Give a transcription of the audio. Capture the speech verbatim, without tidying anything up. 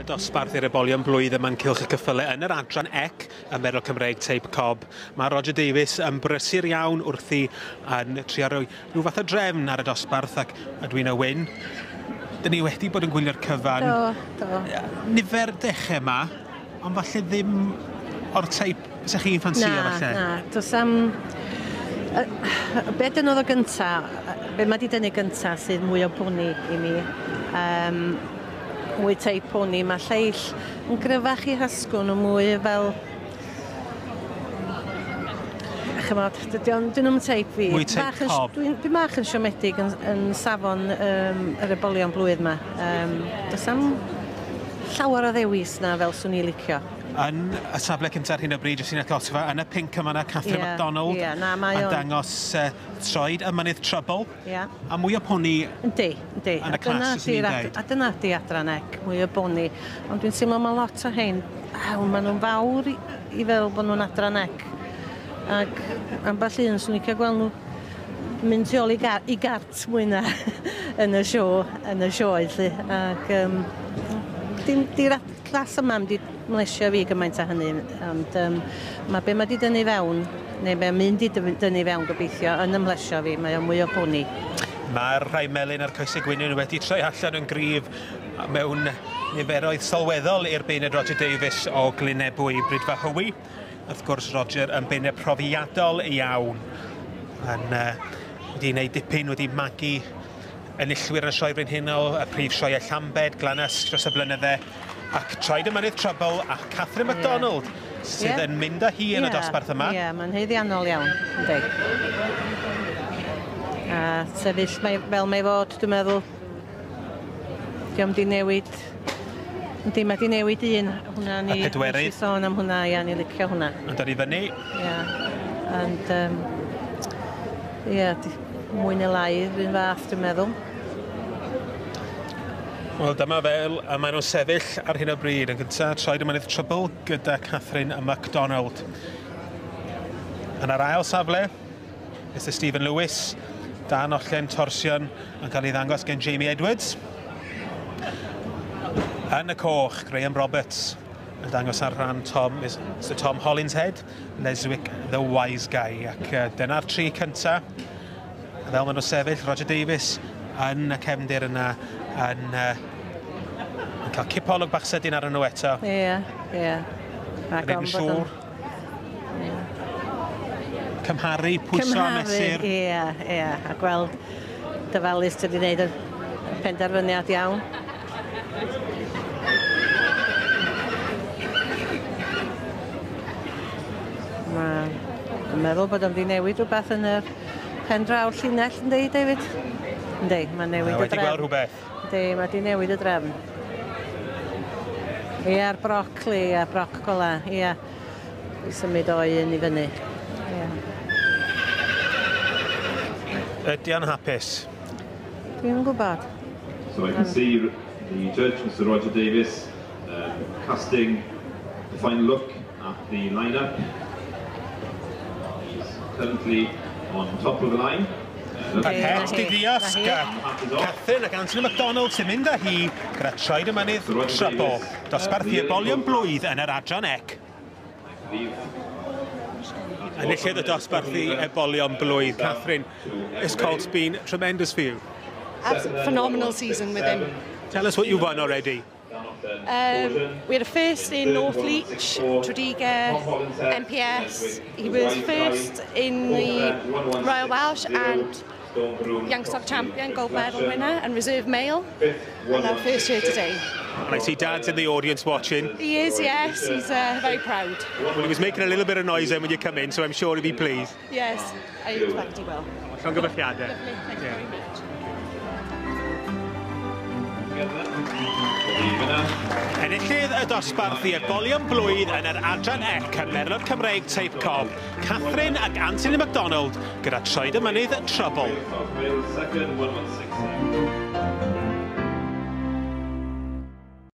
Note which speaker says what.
Speaker 1: Yn y dosbarth i'r ebolion blwydd yma'n Cylch y Ceffylau yn yr adran ec y Merlod Cymreig Teip Cob. Mae Roger Davies yn brysur iawn wrthi yn trio rhoi rhyw fath o drefn ar y dosbarth ac Edwina Wyn. Dyn ni wedi bod yn gwylio'r cyfan.
Speaker 2: Do, do.
Speaker 1: Nifer dechrau yma, ond falle ddim o'r teip fysa chi'n ffansio falle.
Speaker 2: Na, na. Does am... Be dyn oedd o gynta, be mae di dynnu gynta sydd mwy o boni i mi. Um, mwy teip poni, mae lleill yn gryfach i hasgwn o mwy fel... Chymod, dyn nhw'n teip fi.
Speaker 1: Mwy teip cob.
Speaker 2: Dwi'n dwi bach yn siomedig yn, yn safon um, yr ebolion blwydd yma. Um, does am llawer o ddewis na fel swn i licio.
Speaker 1: Yn y safle cyntaf ar hyn o bryd, jyst i'n atgoffa, yn y pinc yma yna Catherine
Speaker 2: yeah,
Speaker 1: MacDonald
Speaker 2: yeah, na, mae
Speaker 1: yn
Speaker 2: o'n...
Speaker 1: dangos uh, troed y mynydd Trouble.
Speaker 2: Yeah.
Speaker 1: A mwy o poni
Speaker 2: yndi, yndi.
Speaker 1: Yn y clas, ysyn ni'n dweud.
Speaker 2: A dyna di adran ec, mwy o boni. Ond dwi'n teimlo mae lot o hein, aw, maen nhw'n fawr i, i fel bod nhw'n adran ec. Ac ambell un, swn i'n cael gweld nhw mynd tu ôl i, gar, i gart mwy na yn y sio, yn y sioe, lly. Ac um, dim, di'r clas yma mynd i mlesio fi gymaint â hynny, ond um, mae be mae di dynnu fewn, neu be mynd i dynnu fewn gobeithio, yn ymlesio fi, mae o'n mwy o boni.
Speaker 1: Mae'r rhai melyn a'r coesau gwynyn wedi troi allan yn gryf mewn niferoedd sylweddol i'r beirniad Roger Davies o Glynebwy Brydfa Hywi. Wrth gwrs, Roger yn beirniad profiadol iawn. Yn, uh, wedi gwneud dipyn, wedi magu enillwyr yn y Sioe Frenhinol, y prif sioe Llambed, Glanys dros y blynydde, ac troed y mynydd Trouble a Catherine MacDonald yeah. sydd
Speaker 2: yeah.
Speaker 1: yn mynd â hi yn
Speaker 2: yeah.
Speaker 1: y dosbarth yma.
Speaker 2: Ie, yeah, mae'n haeddiannol iawn, yndi. A sefyll mae, fel mae fod, dwi'n meddwl, dio'm di newid, yndi, mae di newid un, hwnna ni,
Speaker 1: y pedwerydd.
Speaker 2: Nes i sôn am hwnna, ia, ni licio hwnna.
Speaker 1: Yn dod i fyny.
Speaker 2: Ie, and, um, ie, mwy neu lai, yr un fath, dwi'n meddwl.
Speaker 1: Wel, dyma fel, a maen nhw'n sefyll ar hyn o bryd. Yn gyntaf, troed y mynydd Trouble gyda Catherine MacDonald. Yn yr ail safle, Mister Stephen Lewis, Dan Ollen Torsion yn cael ei ddangos gen Jamie Edwards. Yn y coch, Graham Roberts yn dangos ar rhan Tom, Mister Tom Hollinshead, Leswick the Wise Guy. Ac uh, dyna'r tri cyntaf. Fel maen nhw'n sefyll, Roger Davies yn y cefndir yna yn, uh, yn cael cipolwg bach sydyn ar nhw eto.
Speaker 2: Ie, ie.
Speaker 1: Yn yn siŵr. Cymharu, pwyso a mesur.
Speaker 2: Ie, ie. A gweld dyfalus ti wedi gwneud y penderfyniad iawn. Mae'n meddwl bod o'n wedi newid rhywbeth yn yr pen draw'r llinell, yndi, David? Yndi, mae'n newid y drefn.
Speaker 1: Wedi gweld rhywbeth.
Speaker 2: Yndi, mae wedi newid y drefn. Ie, a'r brocoli, a broc gola, ie. I symud o un i fyny. Ie.
Speaker 1: Ydy o'n hapus?
Speaker 2: Dwi'm yn gwybod.
Speaker 3: So I can see the judge, Mister Roger Davies, um, casting the final look at the line-up. He's currently on top of the line.
Speaker 1: Yr het di ddiosg, Catherine ac Anthony MacDonald sy'n mynd â hi gyda troed y mynydd Trouble. Dosbarth i ebolion blwydd yn yr adran ec. Enillydd y dosbarth i ebolion blwydd. Catherine, this colt's been tremendous for you.
Speaker 4: Absolutely phenomenal season with him.
Speaker 1: Tell us what you've won already.
Speaker 4: Um, we had a first in North Leach, Tredegar, M P S. He was first in the Royal Welsh and Youngstock Champion, gold medal winner and reserve male. And our first year today.
Speaker 1: And I see Dad's in the audience watching.
Speaker 4: He is, yes. He's uh, very proud.
Speaker 1: Well, he was making a little bit of noise then when you come in, so I'm sure he'll be pleased.
Speaker 4: Yes, I expect he will.
Speaker 1: Llongyfarchiadau.
Speaker 4: Lovely, thank you very much.
Speaker 1: Enillydd y dosbarth i ebolion blwydd yn yr adran ec y Merlod Cymreig Teip Cob, Catherine ac Anthony MacDonald gyda troed y mynydd Trouble.
Speaker 3: Second, one one six seven.